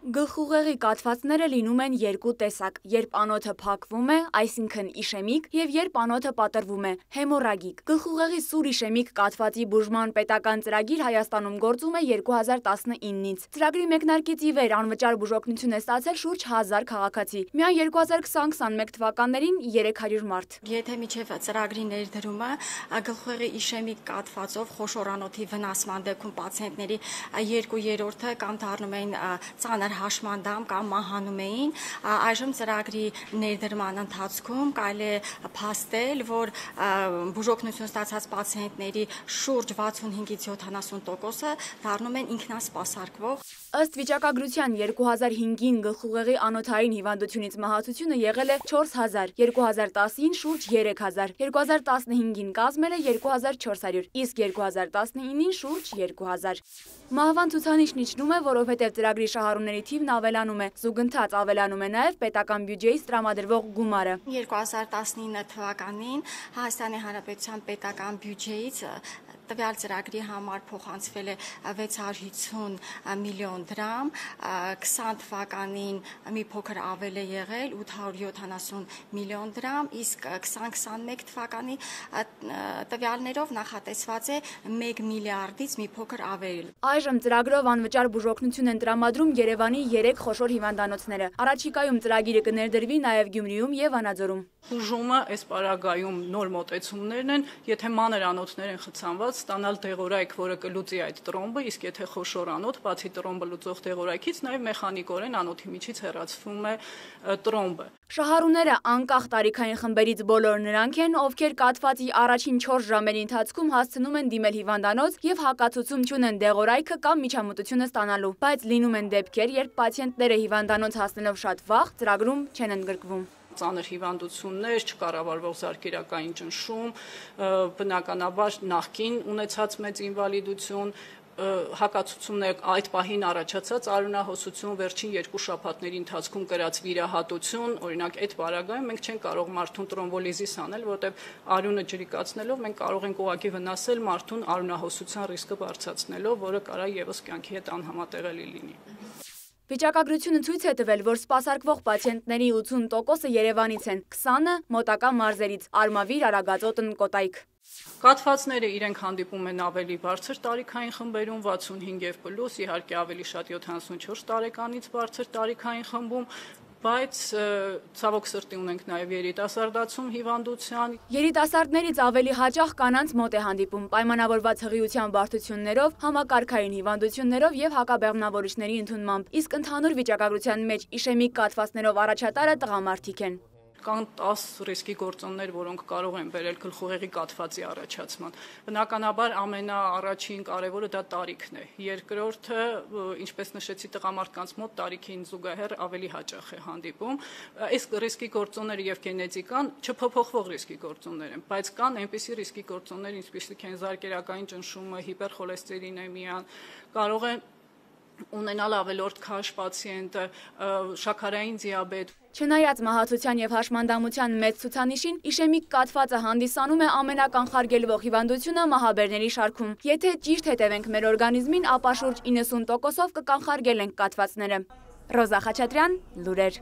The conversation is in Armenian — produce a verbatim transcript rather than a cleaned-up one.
Գլխուղեղի կաթվածները լինում են երկու տեսակ, երբ անոթը փակվում է, այսինքն իշեմիկ, եւ երբ անոթը պատրվում է, հեմորագիկ։ Գլխուղեղի սուր իշեմիկ կաթվածի բուժման պետական ծրագիր Հայաստանում գործում է երկու հազար տասնինից։ Ծրագրի մեկնարկից ի վեր անվճար բուժօգնություն է ստացել շուրջ հազար քաղաքացի։ Միայն երկու հազար քսան քսանմեկ թվականներին երեք հարյուր մարդ։ Եթե միջև ծրագրի ներդրումը գլխուղեղի իշեմիկ կաթվածով խոշոր անոթի վնասման դեպքում պացիենտների երկու երրորդը կամ դառնում էին ծանր հաշմանդամ կամ մահանում էին, այժմ ծրագրի ներդրման ընթացքում կարելի է փաստել, որ բուժօգնություն ստացած պացիենտների շուրջ վաթսունհինգից յոթանասուն տոկոսը դառնում են ինքնասպասարկվող։ Ըստ վիճակագրության երկու հազար հինգին գլխուղեղի անոթային հիվանդությունից մահացությունը եղել է չորս հազար, երկու հազար տասին շուրջ երեք հազար, երկու հազար տասնհինգին կազմել է երկու հազար չորս հարյուր, իսկ երկու հազար տասնինին շուրջ երկու հազար։ Մահվան ցուցանիշն իջնում է, որովհետև ծրագրի շահառուների թիվն ավելանում է, զուգընթաց ավելանում է նաև պետական բյուջեից տրամադրվող գումարը։ երկու հազար տասնինը թվականին Հայաստանի Հանրապետության պետական բյուջեից տվյալ ծրագրի համար փոխանցվել է վեց հարյուր հիսուն միլիոն դրամ, քսան թվականին մի փոքր ավել է եղել ութ հարյուր յոթանասուն միլիոն դրամ, իսկ քսան քսանմեկ թվականի տվյալներով նախատեսված է մեկ միլիարդից մի փոքր ավել։ Այժմ ծրագրով անվճար բուժօգնություն են տրամադրում Երևանի երեք խոշոր հիվանդանոցները։ Առաջիկայում ծրագիրը կներդրվի նաև Գյումրիում եւ Վանաձորում։ Բուժումը այս պարագայում նոր մոտեցումներն են, եթե մանր անոթներ են խցանված, ստանալ դեղորայք, որը կլուծի այդ տրոմբը, իսկ եթե խոշոր անոթ, բացի տրոմբը լուծող դեղորայքից, նաև մեխանիկորեն անոթի միջից հեռացվում է տրոմբը։ Շահառուները անկախ տարիքային խմբերից բոլոր նրանք են, ովքեր կաթվածի առաջին չորս ժամերի ընթացքում հասցնում են դիմել հիվանդանոց եւ հակացուցում չունեն դեղորայքը կամ միջամտությունը ստանալու, բայց լինում են դեպքեր, երբ պացիենտները հիվանդանոց հասնելով շատ վաղ ծրագրում չեն ընդգրկվում։ Ծանր հիվանդություններ, չկառավարվող զարկերակային ճնշում, բնականաբար նախկին ունեցած մեծ ինվալիդություն, հակացություններ այդ պահին առաջացած արյունահոսություն, վերջին երկու շաբաթների ընթացքում կրած վիրահատություն, օրինակ այդ պարագայում մենք չենք կարող մարդուն տրոմբոլիզիս անել, որտեղ արյունը ջրիկացնելով մենք կարող ենք ուղղակի վնասել մարդուն արյունահոսության ռիսկը բարձրացնելով, որը կարող է եւս կյանքի հետ անհամատեղելի լինի։ Վիճակագրությունը ցույց է տվել, որ սպասարկվող պացիենտների ութուն տոկոսը Երևանից են, քսանը մոտակա մարզերից՝ Արմավիր, Արագածոտ, Կոտայք։ Կաթվածները իրենք հանդիպում են ավելի բարձր տարիքային խմբերում, վաթսունհինգ եւ պլյուս, իհարկե ավելի շատ յոթանասունչորս տարեկանից բարձր տարիքային խմբում, բայց ցավոք սրտի ունենք նաև երիտասարդացում հիվանդության։ Երիտասարդներից ավելի հաճախ կանանց մոտ է հանդիպում պայմանավորված հղիության բարդություններով, համակարգային հիվանդություններով եւ հակաբեղմնավորիչների ընդունմամբ, իսկ ընդհանուր վիճակագրության մեջ իշեմիկ կաթվածներով առաջատարը տղամարդիկ են։ Կան տաս ռիսկի գործոններ, որոնք կարող են բերել գլխուղեղի կաթվածի առաջացման։ Բնականաբար ամենաառաջին կարևորը դա տարիքն է։ Երկրորդը, ինչպես նշեցի, տղամարդկանց մոտ տարիքին զուգահեռ ավելի հաճախ է հանդիպում։ Այս ռիսկի գործոնները եւ գենետիկան չփոփոխվող ռիսկի գործոններ են, բայց կան այնպիսի ռիսկի գործոններ, ինչպիսիք են զարկերակային ճնշումը, հիպերխոլեստերինեմիան, կարող են ունենալ ավելորդ քաշ պացիենտը, շաքարային դիաբետ։ Չնայած մահացության եւ հաշմանդամության մեծ ցուցանիշին, իշեմիկ կաթվածը հանդիսանում է ամենականխարգելվող հիվանդությունը մահաբերների շարքում։ Եթե ճիշտ հետևենք մեր օրգանիզմին, ապա շուրջ իննսուն տոկոսով կկանխարգելենք կաթվածները։ Ռոզա Խաչատրյան, լուրեր։